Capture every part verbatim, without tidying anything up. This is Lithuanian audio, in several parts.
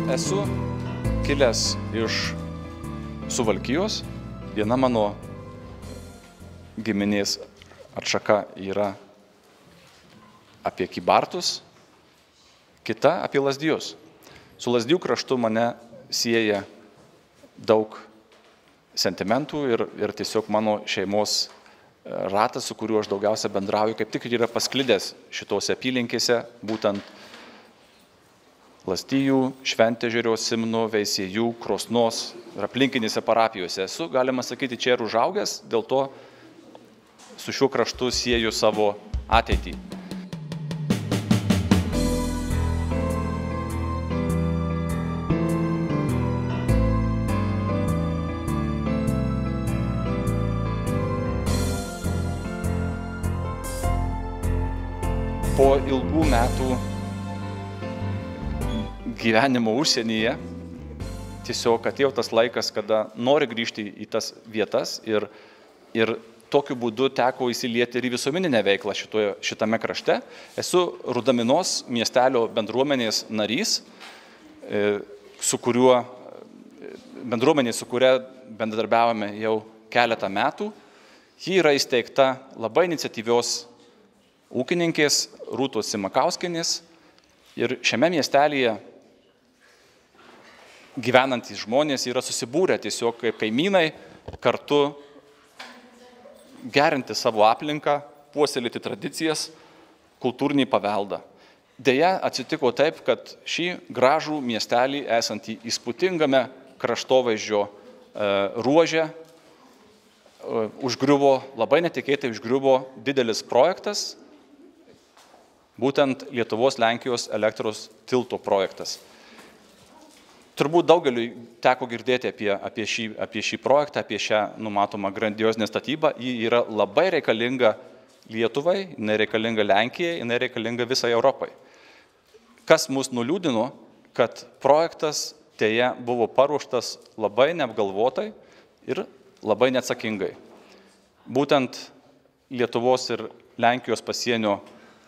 Esu kilęs iš Suvalkijos. Viena mano giminės atšaka yra apie Kybartus, kita apie Lazdijus. Su Lazdijų kraštu mane sieja daug sentimentų ir, ir tiesiog mano šeimos ratas, su kuriuo aš daugiausia bendrauju, kaip tik yra pasklidęs šitose apylinkėse, būtent Lazdijų, Šventežerio, Simno, Veisiejų, Krosnos ir aplinkinėse parapijose. Esu, galima sakyti, čia ir užaugęs, dėl to su šiuo kraštu sieju savo ateitį. Po ilgų metų gyvenimo užsienyje tiesiog atėjo tas laikas, kada nori grįžti į tas vietas ir, ir tokiu būdu teko įsilieti ir į visuomeninę veiklą šitoje, šitame krašte. Esu Rudaminos miestelio bendruomenės narys, su kuriuo, bendruomenė, su kuria bendradarbiavome jau keletą metų. Ji yra įsteigta labai iniciatyvios ūkininkės Rūtos Simakauskienės ir šiame miestelyje gyvenantys žmonės yra susibūrę tiesiog kaip kaimynai kartu gerinti savo aplinką, puoselėti tradicijas, kultūrinį paveldą. Deja, atsitiko taip, kad šį gražų miestelį esantį įspūdingame kraštovaizdžio ruože užgriuvo, labai netikėtai užgriuvo didelis projektas, būtent Lietuvos-Lenkijos elektros tilto projektas. Turbūt daugeliui teko girdėti apie, apie, šį, apie šį projektą, apie šią numatomą grandiozinę statybą. Ji yra labai reikalinga Lietuvai, jinai reikalinga Lenkijai, jinai reikalinga visai Europai. Kas mus nuliūdino, kad projektas teje buvo paruoštas labai neapgalvotai ir labai neatsakingai. Būtent Lietuvos ir Lenkijos pasienio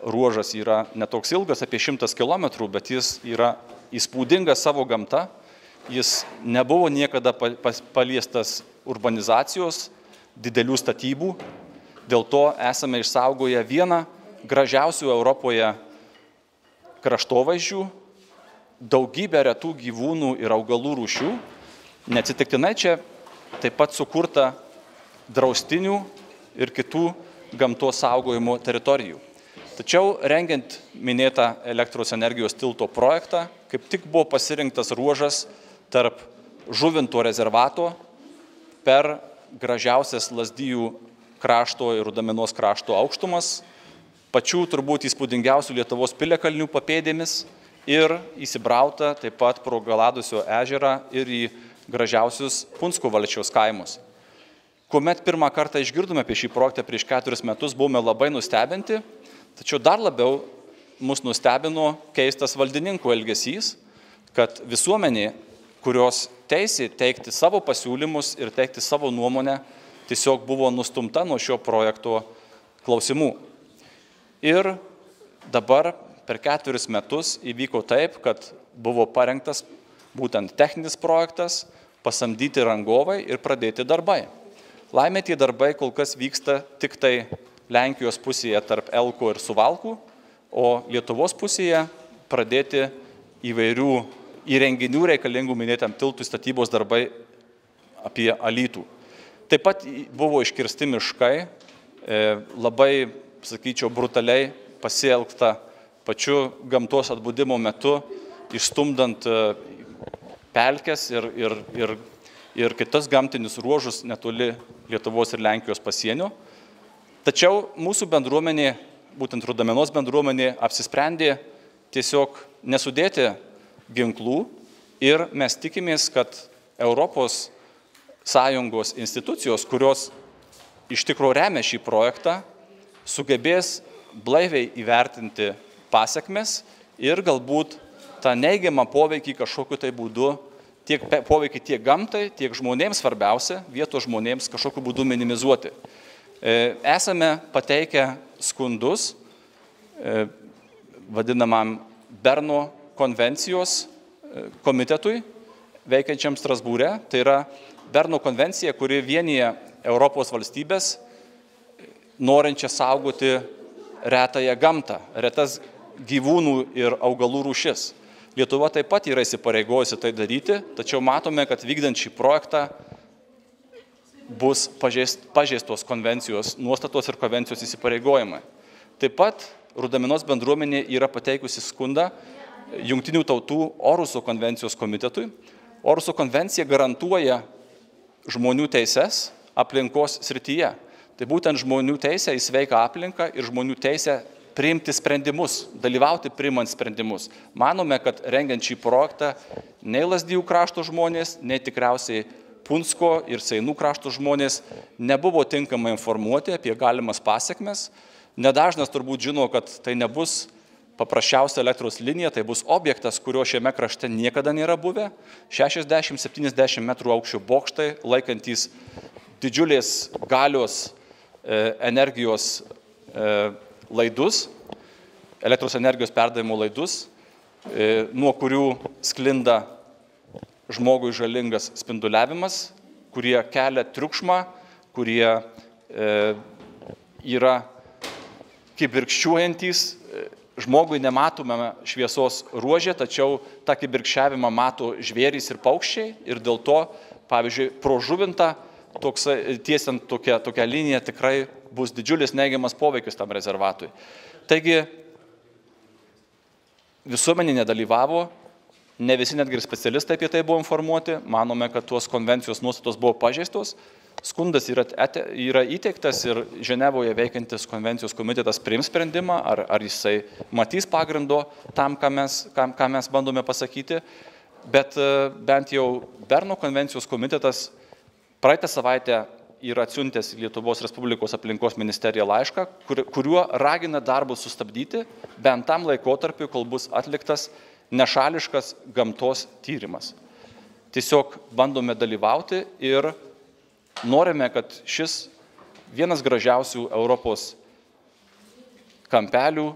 ruožas yra netoks ilgas, apie šimtas kilometrų, bet jis yra įspūdingas savo gamta, jis nebuvo niekada paliestas urbanizacijos, didelių statybų, dėl to esame išsaugoję vieną gražiausių Europoje kraštovaizdžių, daugybę retų gyvūnų ir augalų rūšių. Neatsitiktinai čia taip pat sukurta draustinių ir kitų gamtos saugojimo teritorijų. Tačiau rengiant minėtą elektros energijos tilto projektą, kaip tik buvo pasirinktas ruožas tarp Žuvinto rezervato per gražiausias Lazdijų krašto ir Rudaminos krašto aukštumas, pačių turbūt įspūdingiausių Lietuvos piliakalnių papėdėmis ir įsibrauta taip pat pro Galadusio ežerą ir į gražiausius Punsko valsčiaus kaimus. Kuomet pirmą kartą išgirdome apie šį projektą prieš keturis metus, buvome labai nustebinti. Tačiau dar labiau mus nustebino keistas valdininkų elgesys, kad visuomenė, kurios teisė teikti savo pasiūlymus ir teikti savo nuomonę, tiesiog buvo nustumta nuo šio projekto klausimų. Ir dabar per keturis metus įvyko taip, kad buvo parengtas būtent techninis projektas, pasamdyti rangovai ir pradėti darbai. Laimė tie darbai kol kas vyksta tik tai Lenkijos pusėje tarp Elko ir Suvalkų, o Lietuvos pusėje pradėti įvairių įrenginių reikalingų minėtam tiltų statybos darbai apie Alytų. Taip pat buvo iškirsti miškai, labai, sakyčiau, brutaliai pasielgta pačiu gamtos atbudimo metu, išstumdant pelkes ir, ir, ir, ir kitas gamtinius ruožus netoli Lietuvos ir Lenkijos pasienio. Tačiau mūsų bendruomenė, būtent Rudaminos bendruomenė, apsisprendė tiesiog nesudėti ginklų ir mes tikimės, kad Europos Sąjungos institucijos, kurios iš tikrųjų remia šį projektą, sugebės blaiviai įvertinti pasekmes ir galbūt tą neigiamą poveikį kažkokiu tai būdu, tiek poveikį tiek gamtai, tiek žmonėms svarbiausia, vietos žmonėms kažkokiu būdu minimizuoti. Esame pateikę skundus vadinamam Berno konvencijos komitetui veikiančiam Strasbūre. Tai yra Berno konvencija, kuri vienyje Europos valstybės norinčią saugoti retąją gamtą, retas gyvūnų ir augalų rūšis. Lietuva taip pat yra įsipareigojusi tai daryti, tačiau matome, kad vykdant šį projektą bus pažeistos konvencijos nuostatos ir konvencijos įsipareigojimai. Taip pat Rudaminos bendruomenė yra pateikusi skundą Jungtinių tautų Oruso konvencijos komitetui. Oruso konvencija garantuoja žmonių teises aplinkos srityje. Tai būtent žmonių teisė į sveiką aplinką ir žmonių teisė priimti sprendimus, dalyvauti priimant sprendimus. Manome, kad rengiant šį projektą nei Lazdijų krašto žmonės, nei tikriausiai Punsko ir Seinų krašto žmonės nebuvo tinkamai informuoti apie galimas pasiekmes. Nedažnas turbūt žino, kad tai nebus paprasčiausia elektros linija, tai bus objektas, kurio šiame krašte niekada nėra buvę. šešiasdešimt septyniasdešimt metrų aukščio bokštai, laikantys didžiulės galios energijos laidus, elektros energijos perdavimo laidus, nuo kurių sklinda žmogui žalingas spinduliavimas, kurie kelia triukšmą, kurie yra kibirkščiuojantys. Žmogui nematome šviesos ruožė, tačiau tą kibirkščiavimą mato žvėrys ir paukščiai ir dėl to, pavyzdžiui, pro Žuvintą toks, tiesiant tokią, tokią liniją tikrai bus didžiulis neigiamas poveikis tam rezervatui. Taigi visuomenė nedalyvavo, ne visi netgi ir specialistai apie tai buvo informuoti, manome, kad tuos konvencijos nuostatos buvo pažeistos. Skundas yra, yra įteiktas ir Ženevoje veikiantis konvencijos komitetas priims sprendimą, ar, ar jisai matys pagrindo tam, ką mes, ką, ką mes bandome pasakyti. Bet bent jau Berno konvencijos komitetas praeitą savaitę yra atsiuntęs Lietuvos Respublikos aplinkos ministerija laišką, kur, kuriuo ragina darbus sustabdyti bent tam laikotarpiu, kol bus atliktas nešališkas gamtos tyrimas. Tiesiog bandome dalyvauti ir norime, kad šis vienas gražiausių Europos kampelių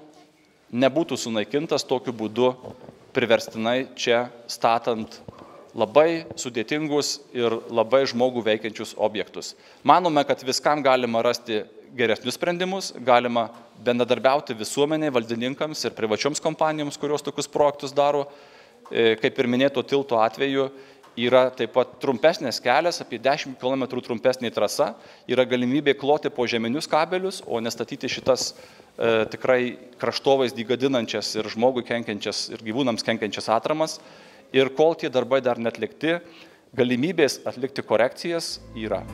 nebūtų sunaikintas tokiu būdu priverstinai čia statant labai sudėtingus ir labai žmogų veikiančius objektus. Manome, kad viskam galima rasti geresnius sprendimus, galima bendradarbiauti visuomeniai, valdininkams ir privačioms kompanijoms, kurios tokius projektus daro. Kaip ir minėto tilto atveju, yra taip pat trumpesnės kelias, apie dešimt kilometrų trumpesnė trasa, yra galimybė kloti po žeminius kabelius, o nestatyti šitas e, tikrai kraštovaizdį gadinančias ir žmogui kenkiančias ir gyvūnams kenkiančias atramas. Ir kol tie darbai dar netlikti, galimybės atlikti korekcijas yra.